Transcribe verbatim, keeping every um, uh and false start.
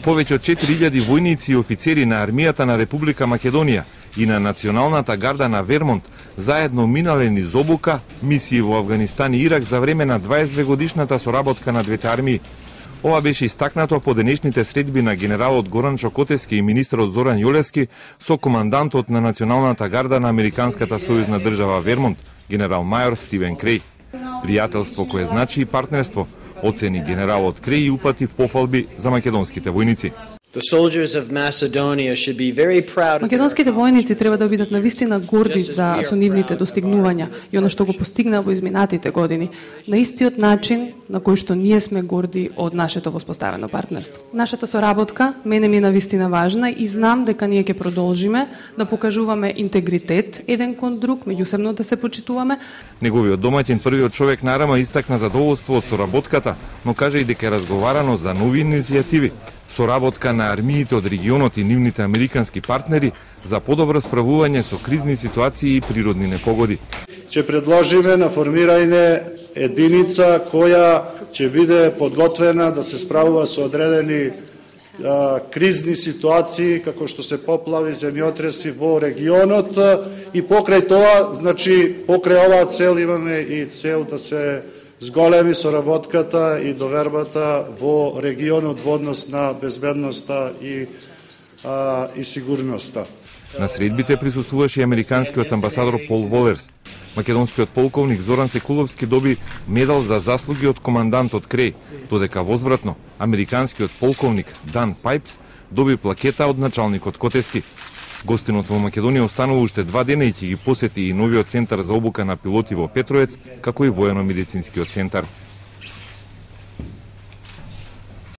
Повеќе од четири илјади војници и офицери на армијата на Република Македонија и на Националната гарда на Вермонт заедно минале низ обука мисии во Авганистан и Ирак за време на дваесет две годишната соработка на двете армии. Ова беше истакнато по денешните средби на генералот Горан Чокотевски и министерот Зоран Јолевски со командантот на Националната гарда на Американската сојузна држава Вермонт, генерал мајор Стивен Креј. Пријателство кое значи и партнерство, оцени генералот Креј и упати пофалби за македонските војници. Македонските војници треба да бидат навистина горди за со нивните достигнувања и она што го постигна во изминатите години, на истиот начин на кој што ние сме горди од нашето воспоставено партнерство. Нашата соработка мене ми е навистина важна и знам дека ние ќе продолжиме да покажуваме интегритет еден кон друг, меѓусебно да се почитуваме. Неговиот домаќин првиот човек на Арама истакна задоволство од соработката, но кажа и дека е разговарано за нови иницијативи. Соработка на армиите од регионот и нивните американски партнери за подобро справување со кризни ситуации и природни непогоди. Ќе предложиме на формирање единица која ќе биде подготвена да се справува со одредени а, кризни ситуации како што се поплави, земјотреси во регионот и покрај тоа, значи покрај оваа цел имаме и цел да се зголеми соработката и довербата во регионот во однос на безбедноста и, а, и сигурноста. На средбите присуствуваше и американскиот амбасадор Пол Волерс. Македонскиот полковник Зоран Секуловски доби медал за заслуги од командантот Креј, додека возвратно американскиот полковник Дан Пайпс доби плакета од началникот Котевски. Гостинот во Македонија останува уште два дена и ќе ги посети и новиот центар за обука на пилоти во Петровец, како и воено-медицинскиот центар.